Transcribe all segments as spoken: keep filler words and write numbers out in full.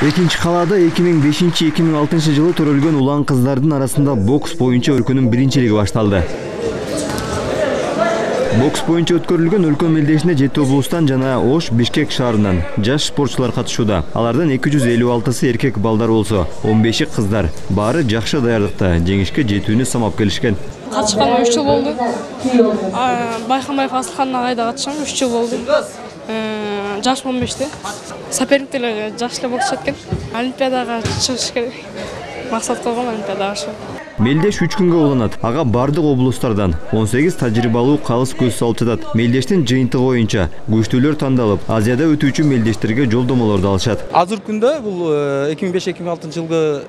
Экинчи калаада эки миң бешинчи — эки миң алтынчы жылы төрөлгөн улан кыздардын арасында бокс боюнча өлкөнүн биринчилиги башталды. Бокс боюнча өткөрүлгөн өлкө мелдешине жети облустан жана Ош, Бишкек шаарынан жаш спортчулар катышууда. Алардын эки жүз элүү алтысы эркек балдар болсо, он беши кыздар. Баары жакшы даярдыкта, жеңишке жетүүнү самап келишкен. Катышканыма үч жыл болду. Байкамбаев Асылхан агайда катышам, үч жыл болду. Жаш он беште. Соперниктер жаш эле бокс экен. Олимпиадага чыгыш керек. Максат койгон Олимпиадага чыгуу. Мелдеш үч күнгө уланат. Ага бардык облустардан он сегиз тажрыйбалуу калыс көз салып жатат. Мелдештин жыйынтыгы боюнча күчтүүлөр тандалып, Азияда өтүүчү мелдештерге жолдомолорду алышат. Азыркы күндө бул эки миң беш — эки миң алтынчы жылгы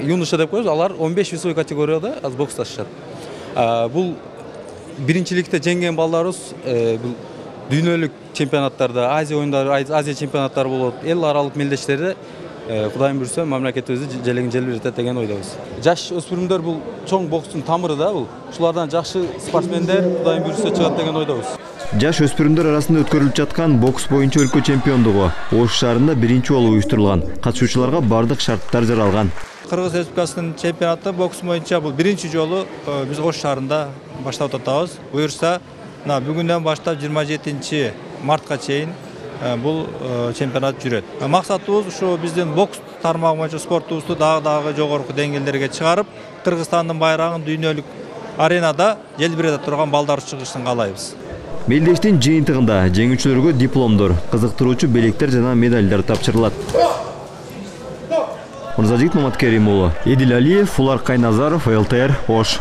юноша деп коебуз, алар он беш весовой категорияда аз боксташат. Бул биринчиликте жеңген балдарыбыз бул дүйнөлүк чемпионаттарда, Азия оюндары, Азия чемпионаттары болот, эл аралык мелдештерде Кудайым буйрса мамлекетибизди желегин желбиретет деген ойдобуз. Жаш өспүрүмдөр бул чоң бокстун тамыры да бул. Ушулардан жакшы спортсмендер Кудайым буйрса чыгат деген ойдобуз. Жаш өспүрүмдөр арасында өткөрүлүп жаткан бокс боюнча өлкө чемпиондугу Ош шаарында биринчи жолу уюштурулган. Катышуучуларга бардык шарттар жаралган. Кыргыз Республикасынын чемпионаты бокс боюнча бул биринчи жолу биз Ош шаарында баштап атабыз. Буюрса, бүгүндөн баштап жыйырма жетинчи мартка чейин бул чемпионат жүрөт. Максатыбыз ушу биздин бокс тармагы боюнча спортубузду дагы дагы жогорку деңгээлдерге чыгарып, Кыргызстандын байрагын дүйнөлүк аренада желбирете турган балдар чыгышын каалайбыз. Мелдештин жыйынтыгында жеңүүчүлөргө дипломдор, кызыктыруучу белектер жана медалдар тапшырылат. Мырзажигит Маматкерим уулу, Эдил Алиев, Фулар Кайназаров, эл тэ эр, Ош.